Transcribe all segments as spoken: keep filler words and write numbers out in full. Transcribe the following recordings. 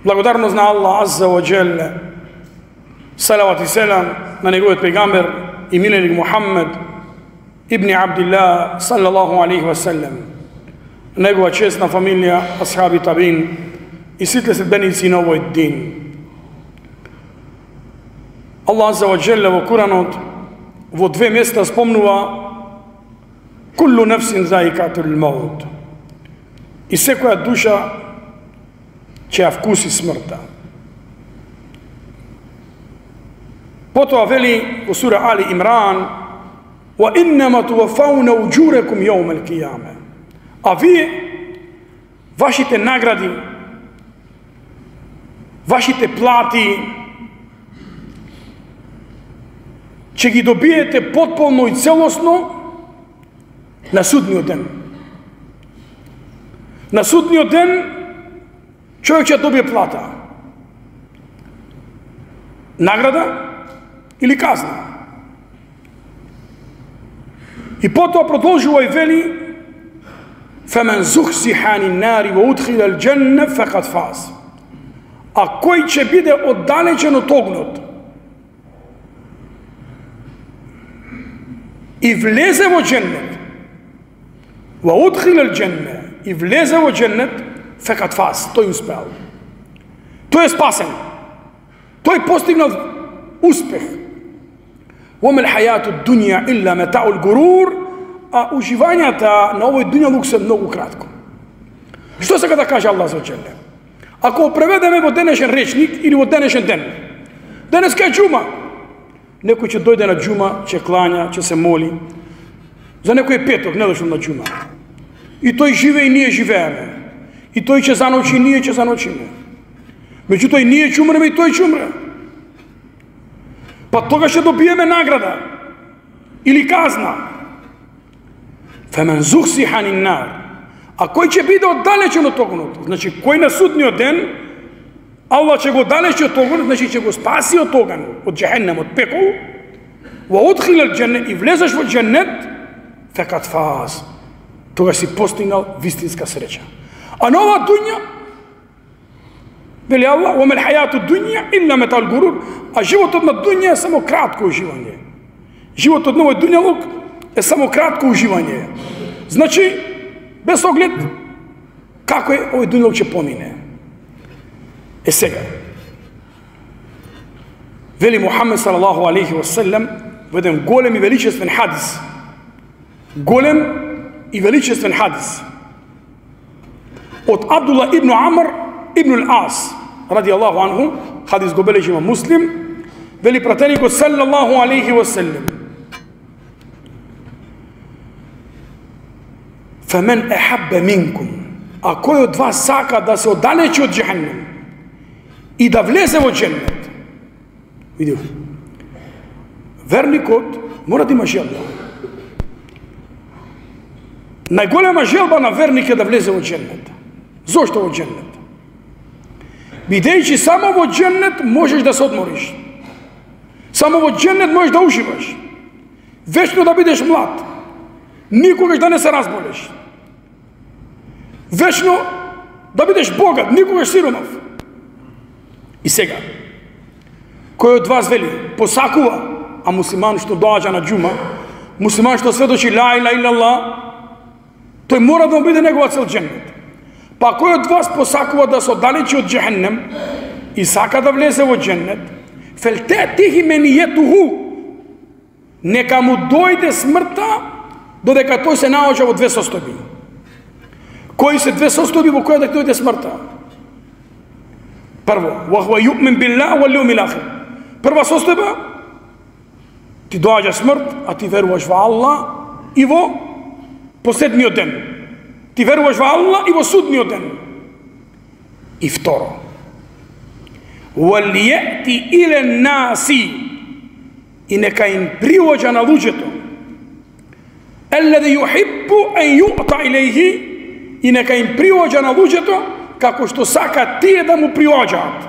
Благодарност на Аллах Азza wa Jalla, салават и селам на неговиот пегамбер и миленик Мухаммед ибн Абдилlah саллаллаху алейхи ва саллам, негова честна фамилија, асхаби табин и сите следбеници на овој дин. Аллах Азza wa Jalla во Куранот во две места спомнува куллу нефсин заикатул маут, и секоја душа ќе ја вкуси смртта. Потоа вели во сура Али Имран: "Ва иннама тувафауна уџурекум јаумел кијаме." А вие, вашите награди, вашите плати, ќе ги добиете потполно и целосно на судниот ден. На судниот ден човек ќе добие плата, награда или казна. И потоа продолжува и вели: "Фамен зухзиха ани нари ва удхила ал џенне факад фаз." А кој ќе биде оддалечен од огнот и влезе во џеннет, ва удхила ал џенне, и влезе во џеннет, факад фаз, тој успеал. Тој е спасен. Тој постигнал успех. Вомел хајату дуња илла метаул гурур, а уживањата на овој дуњалук се многу кратко. Што сака да каже Аллах за Джеле? Ако преведеме во денешен речник или во денешен ден, денеска е џума, некој ќе дојде на џума, ќе клања, ќе се моли. За некој е петок, не дошол на џума. И тој живее и ние живееме. И тој ќе заночи и ние ќе заночиме. Меѓутоа и ние ќе умреме и тој ќе умре. Па тога ќе добиеме награда или казна. Фемен зухзиха ани нар. А кој ќе биде оддалечен од огнот? Значи, кој на судниот ден Аллах ќе го оддалечи од огнот, значи ќе го спаси од оган, од џехеннем, од пекол. Ва удхила ал џеннет, и влезеш во џеннет, факад фаз. Тога си постигнал вистинска среќа. А на ова дуња, вели Аллах: "Ва мел хајату дуња илла метал гурур." А животот на дуња е само кратко уживање. Животот на овој дуњалук е само кратко уживање. Значи, без оглед како е овој дуњалук ќе помине. Е сега, вели Мухаммед салаллаху алейхи ва саллам во еден голем и величествен хадис. Голем и величествен хадис од Абдулла ибн Амр ибн ал-Ас ради Аллаху анху, хадис го бележи има Муслим, вели пратеникот салаллаху алейхи ва саллам: "Фамен ехаббе минкум", а кој од вас сака да се оддалечи од џехеннем и да влезе во џеннет. Видите, верникот мора да има желба. Најголема желба на верник е да влезе во џеннет. Зошто во џеннет? Бидејќи само во џеннет можеш да се одмориш. Само во џеннет можеш да уживаш. Вечно да бидеш млад. Никогаш да не се разболеш. Вечно да бидеш богат, никогаш сиромав. И сега, кој од вас вели, посакува, а муслиман што доаѓа на џума, муслиман што сведочи ла иляха илаллах, тој мора да биде негова цел џеннет. Па кој од вас посакува да се оддалечи од џехеннем и сака да влезе во џеннет, фелтетихи менијетуху, нека му дојде смртта додека тој се наоѓа во две состојби. Кои се две состојби во која да дојде смртта? Прво, вахва юъмин биллах вал јаумил ахир. Прва состојба, ти доаѓа смрт, а ти веруваш во Аллах и во последниот ден. Ти веруваш во Аллах и во судниот ден. И второ, валијати иле наси, и нека им приоѓа на луѓето, еллази јухиббу ан јуъта илейхи, и нека им приоѓа на луѓето како што сака тие да му приоѓаат.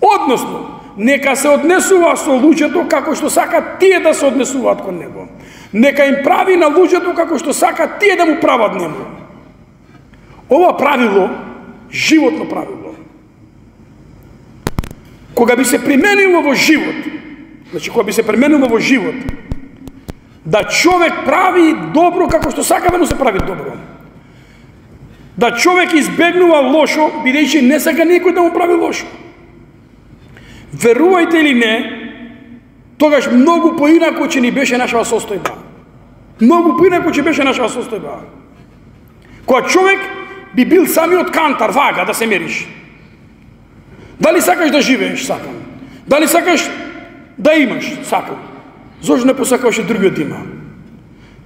Односно, нека се однесува со луѓето како што сака тие да се однесуваат кон него. Нека им прави на луѓето како што сака тие да му прават нему. Ова правило, животно правило, кога би се применило во живот, значи кога би се применило во живот, да човек прави добро како што сака да му се прави добро. Да човек избегнува лошо, бидејќи не сака некој да му прави лошо. Верувајте или не, тогаш многу поинако ќе ни беше нашава состојба. Многу поинако ќе беше нашава состојба. Кога човек би бил самиот кантар, вага да се мериш. Дали сакаш да живееш? Сакам. Дали сакаш да имаш? Сакам. Зошто не посакаш и другиот има?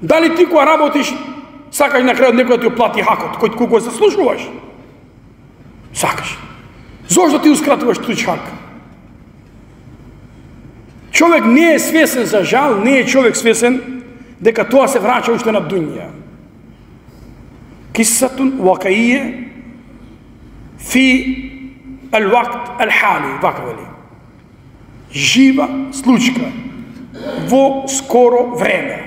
Дали ти кога работиш, сакаш на крајот некој да ти оплати хакот, кој кога се заслужуваш? Сакаш. Зошто ти ускратуваш туѓ хак? Човек не е свесен, за жал, не е човек свесен дека тоа се врача уште на дуња. Кисатун вакаие фи ал-вакт ал-хали, вака вели. Жива случка во скоро време.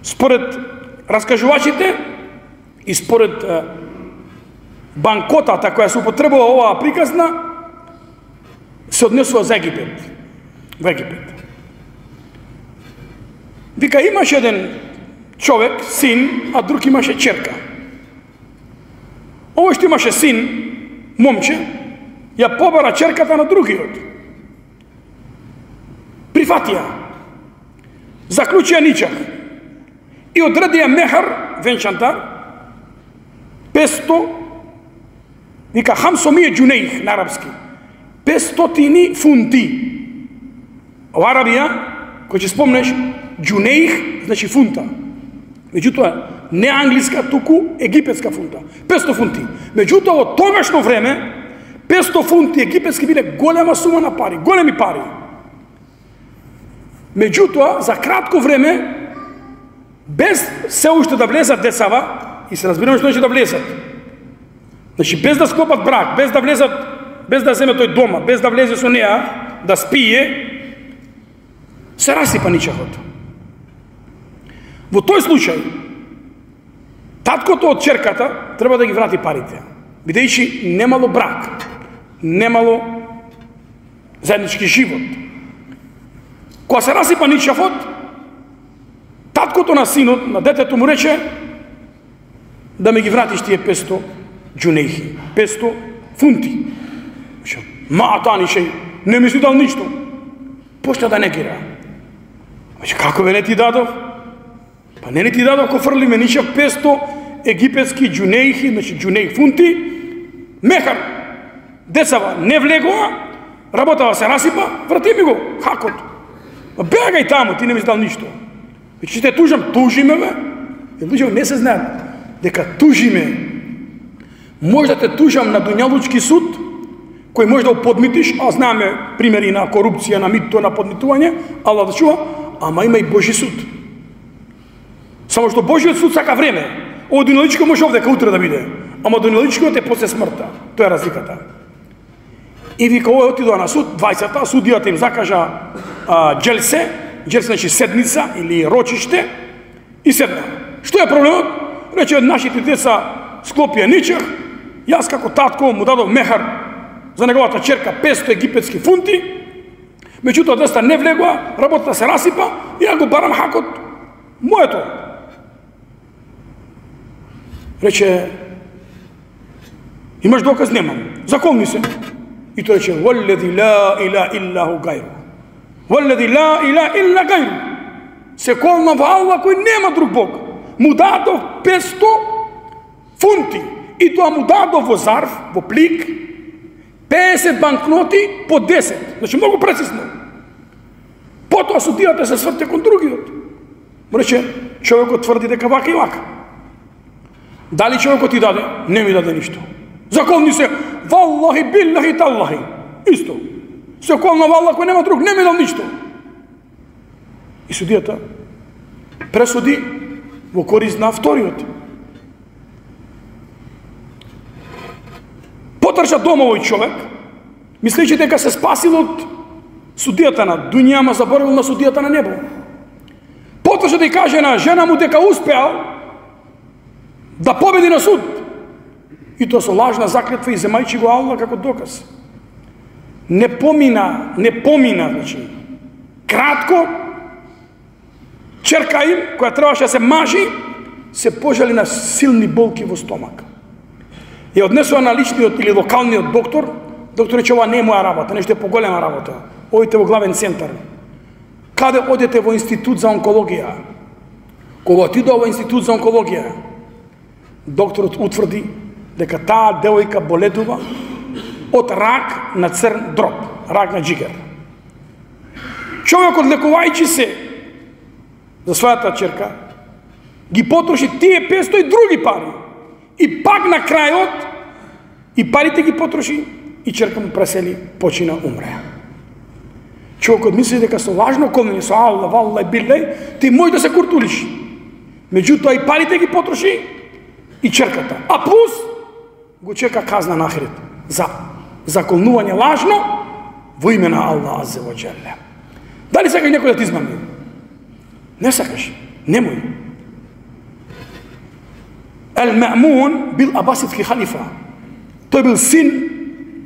Според раскажувачите и според е, банкотата која се употребува оваа приказна, се однесува за Египет. Во Египет. Вика, имаше еден човек, син, а друг имаше черка. Овој што имаше син, момче, ја побара черката на другиот. Прифатија. Заклучија ничак. И одредија мехар, венчантар, песто, вика хамсомие джунеих на арапски, пестотини фунти. Во Арабија, кој ќе спомнеш, джунеих значи фунта. Меѓутоа, не англиска, туку египетска фунта. песто фунти. Меѓутоа, во тогашно време, песто фунти египетски биле голема сума на пари, големи пари. Меѓутоа, за кратко време, без се уште да влезат децава, и се разбираме што значи да влезат. Значи, без да склопат брак, без да влезат, без да земе тој дома, без да влезе со неа, да спие, се расипа ничахот. Во тој случај, таткото од черката треба да ги врати парите, бидејќи немало брак, немало заеднички живот. Кога се расипа ничавот, таткото на синот, на детето му рече да ме ги вратиш тие песто джунеихи, песто фунти. Ма танишеј, не ми си дал ништо. Почна да негира. Како бе не ти дадов? Па не не ти дадов, ко фрлиме нишав песто египетски джунеихи, значи джунеих фунти, мехар, децава не влегува, работава се расипа, врати ми го, хакот. Бегај таму, ти не ми си дал ништо. Вече те тужам, тужиме бе. Луѓе не се знаат дека тужиме. Може да те тужам на дуњалучки суд, кој може да подмитиш, а знаеме примери на корупција, на мито, на подмитување, Аллах да чува, ама има и Божи суд. Само што Божиот суд сака време. Ово дуњалучко може овдека утре да биде, ама дуњалучкиот е после смртта. Тоа е разликата. И вика, овој отидоа на суд, двајцата, судијата им закажа а, джелсе, джелсе значи седница или рочиште, и седна. Што е проблемот? Рече, нашите деца склопија ничех, јас како татко му дадов мехар за неговата черка песто египетски фунти, меѓутоа деца не влегува, работата се расипа, и ја го барам хакот моето. Рече, имаш доказ? Немам. Заколни се. И тој рече, валлази ла иля иллаху гајру. Валлази ла иля илла гајру. Се колна во Аллах кој нема друг Бог. Му дадов песто фунти. И тоа му дадов во зарф, во плик, песет банкноти по десет. Значи, многу прецизно. Потоа судијата се сврте кон другиот. Му рече, човекот тврди дека вака и вака. Дали човекот ти даде? Не ми даде ништо. Заколни се, валлахи, биллахи, таллахи. Исто. Се колна во Аллах кој нема друг, не ми дал ништо. И судијата пресуди во корист на вториот. Потрча дома овој човек, мислејќи дека се спасил од судијата на дуња, ама заборавил на судијата на небо. Потрча да ја каже на жена му дека успеал да победи на суд. И тоа со лажна заклетва и земајќи го Аллах како доказ. не помина, не помина, значи, кратко, черка им, која требаше да се мажи, се пожали на силни болки во стомак. Ја однесува на личниот или локалниот доктор, доктор рече, ова не е моја работа, нешто е поголема работа. Одите во главен центар. Каде одете во институт за онкологија? Кога отидува во институт за онкологија, докторот утврди дека таа девојка боледува од рак на црн дроб, рак на джигер. Човекот лекувајќи се за својата черка, ги потроши тие петстотини и други пари. И пак на крајот, и парите ги потроши, и черка му пресели, почина, умре. Човекот мисли дека со лажно колнење, со Аллах, валлај, биллај, ти може да се куртулиш. Меѓутоа и парите ги потроши, и черката. А плюс, го чека казна на ахирет за заколнување лажно во име на Аллах аззе ва џелле. Дали сакаш некој да ти измами? Не сакаш, немој. Ал-Маъмун бил абасидски халифа. Тој бил син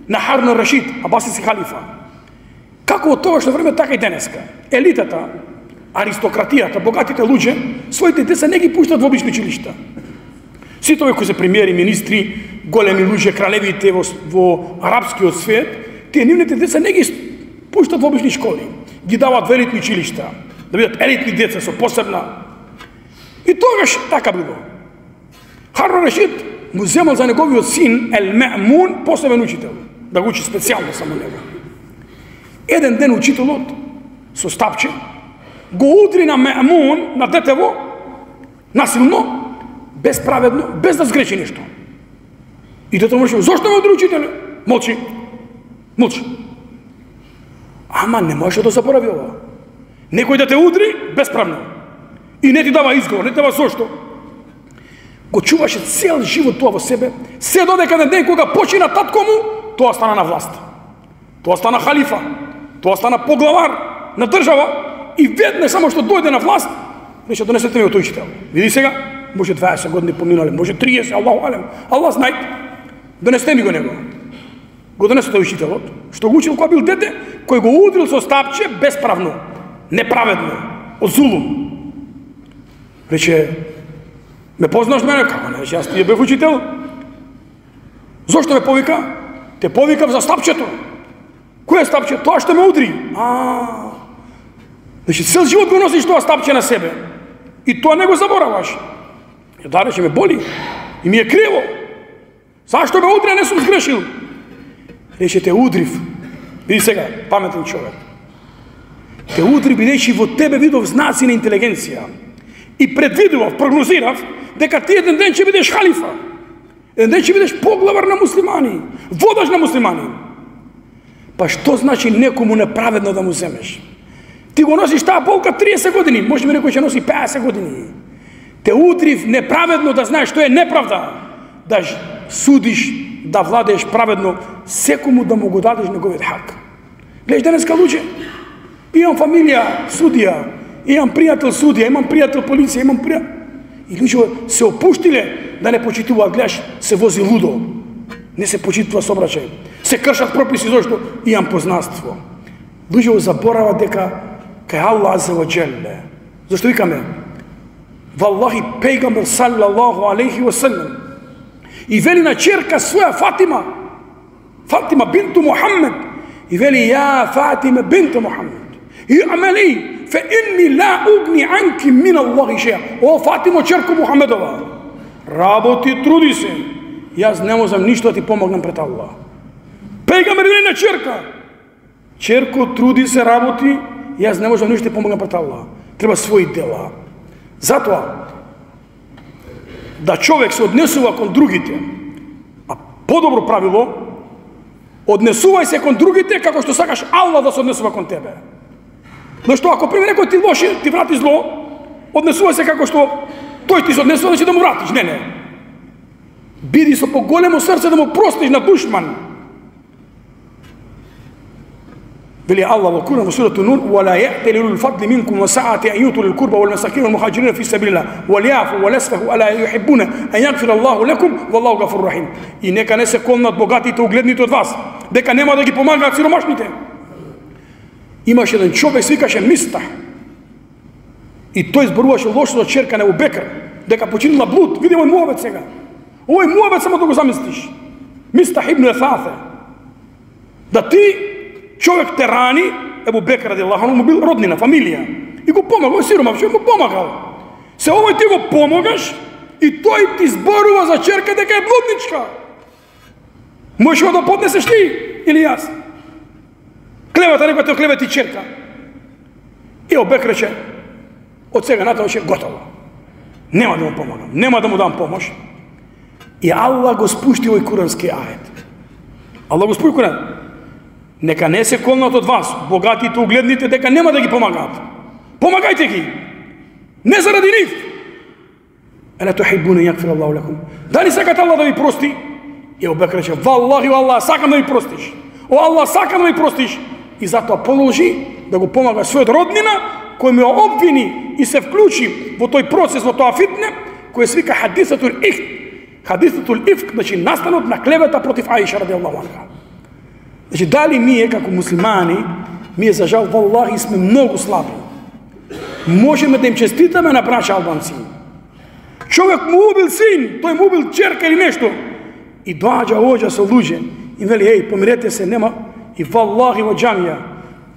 на Харун ар-Рашид, абасидски халифа. Како од тогашно време, така и денеска. Елитата, аристократијата, богатите луѓе, своите деца не ги пуштат во обични училишта. Сите овие кои се премиери, министри, големи луѓе, кралевите во, во арапскиот свет, тие нивните деца не ги пуштат во обични школи. Ги дават во елитни училишта, да бидат елитни деца со посебна. И тогаш така било. Харун ар-Рашид му земал за неговиот син Ал-Маъмун посебен учител, да го учи специјално само него. Еден ден учителот со стапче го удри на Маъмун, на детево, насилно, безправедно, без да сгреши нешто. И дете му рече, зошто ме удри учителе? Молчи. Молчи. Ама не можеш да заборави ова. Некој да те удри безправно. И не ти дава изговор, не ти дава зошто. Го чуваше цел живот тоа во себе, се додека на ден кога почина татко му, тоа стана на власт. Тоа стана халифа. Тоа стана поглавар на држава и веднаш само што дојде на власт, рече, донесете ми го тој учител. Види сега, може дваесет години поминале, може триесет, Аллаху алем, Аллах знае. Донесете ми го него. Го донесе тој учителот, што го учил кога бил дете, кој го удрил со стапче безправно, неправедно, од зулум. Рече, ме познаш мене? Како не? Рече, јас ти бев учител. Зошто ме повика? Те повикав за стапчето. Кој е стапче? Тоа што ме удри. А, значи, цел живот го носиш тоа стапче на себе. И тоа не го забораваш. Ја да, рече, ме боли. И ми е криво. Зашто ме удри, а не сум сгрешил? Рече, те удрив. Види сега, паметен човек. Те удри, бидејќи во тебе видов знаци на интелигенција. И предвидував, прогнозирав, дека ти еден ден ќе бидеш халифа. Еден ден ќе бидеш поглавар на муслимани. Водаш на муслимани. Па што значи некому неправедно да му земеш? Ти го носиш таа болка триесет години, може би некој ќе носи пеесет години. Те удрив неправедно да знаеш што е неправда, да судиш, да владееш праведно, секому да му го дадеш неговиот хак. Гледаш денеска луѓе, имам фамилија судија, имам пријател судија, имам пријател полиција, имам пријател... И луѓе се опуштиле да не почитуваат, гледаш, се вози лудо, не се почитува сообраќај, се кршат прописи зашто имам познанство. Луѓе заборават дека кај Аллах аззе ва џелле. Зашто викаме? Валлахи пејгамбер саллаллаху алейхи ва саллем и вели на черка своја Фатима, Фатима бинту Мухаммед, и вели ја Фатима бинту Мухаммед, и амели фе инни ла угни анки мин Аллахи шеја. О, Фатимо, черко Мухамедова, работи, труди се, јас не можам ништо да ти помогнам пред Аллах. Пејгамбер вели на черка, черко, труди се, работи, јас не можам ништо да ти помогнам пред Аллах. Треба своји дела. Затоа, да човек се однесува кон другите, а подобро правило, однесувај се кон другите како што сакаш Аллах да се однесува кон тебе. Зашто ако приме некој ти лоши, ти врати зло, однесувај се како што тој ти се однесува, значи да му вратиш. Не, не. Биди со поголемо срце да му простиш на душман. Вели Аллах во Куран во сурата Нур: "Вала я'тали улул фадли минкум ва са'ати an yutu lil qurba wal masakin wal muhajirin fi sabilillah wal ya'fu wal yasfahu ala yuhibbuna an yaghfira Allahu lakum wallahu ghafurur rahim." И нека не се колнат богатите угледните од вас, дека нема да ги помагаат сиромашните. Имаше еден човек, се викаше Мистах. И тој зборуваше лошо за черка на Абу Бекр, дека починила блуд. Види овој муабет сега. Овој муабет само да го замислиш. Мистах ибн Есафе. Да ти човек те рани, Абу Бекр радијаллаху анху му бил роднина, фамилија. И го помага, овој сиромаш, му помагал. Се овој ти го помогаш и тој ти зборува за черка дека е блудничка. Можеш да поднесеш ти или јас? Клевата некој те клевети черка. И Абу Бекр рече: од сега натаму ќе готово. Нема да му помагам, нема да му дам помош. И Аллах го спушти овој курански ајет. Аллах го спушти Куран. Нека не се колнат од вас богатите угледните дека нема да ги помагаат. Помагајте ги. Не заради нив. Ела тухибуна јагфир Аллаху лакум. Дали сакате Аллах да ви прости? И Абу Бекр рече: "Валлахи валлах, сакам да ми простиш. О Аллах, сакам да ми простиш." И затоа продолжи да го помага својот роднина, кој ме обвини и се вклучи во тој процес, во тоа фитне, кој се вика хадисатул ифк. Хадисатул ифк, значи настанот на клевета против Аиша радијаллаху анха. Значи, дали ние како муслимани, ние за жал, валлахи, сме многу слаби. Можеме да им честитаме на браќа албанци. Човек му убил син, тој му убил черка или нешто. И доаѓа оđа со луѓе и вели: "Еј, помирете се, нема." И валлахи во џамија,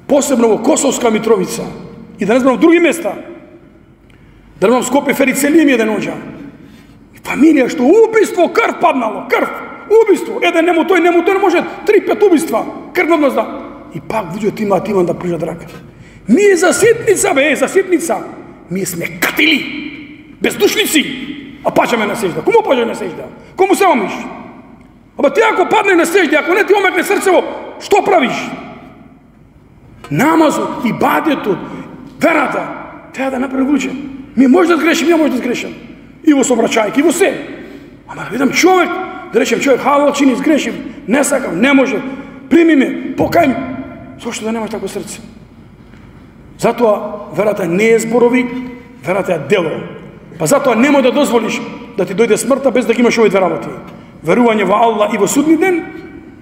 посебно во Косовска Митровица, и да не знам в други места, да не знам Скопје, Ферицелија ми еден оđа. И фамилија што убиство, крв паднало, крв, убиство, еден нему тој, нему тој, не може три-пет убиства, крвно да. И пак луѓето имаат иман да прижат рака. Ние за ситница, бе, за ситница, ние сме катили, бездушници, а паѓаме на сежда. Кому паѓаме на сежда? Кому се омиш? Аба ти ако падне на сежда, ако не ти омекне срцево, што правиш? Намазот, ибадетот, верата, треба да направи луѓе. Ми може да сгрешим, ја може да сгрешам. И во собрачајки, и во се. Ама да видам човек, да речем човек, халал чини, сгрешим, не сакам, не може, прими ме, покај ме. Зошто да немаш тако срце? Затоа верата не е зборови, верата е дело. Па затоа немој да дозволиш да ти дојде смртта без да ги имаш овие две работи. Верување во Аллах и во судни ден,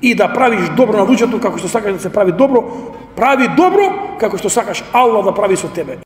и да правиш добро на луѓето како што сакаш да се прави добро, прави добро како што сакаш Аллах да прави со тебе.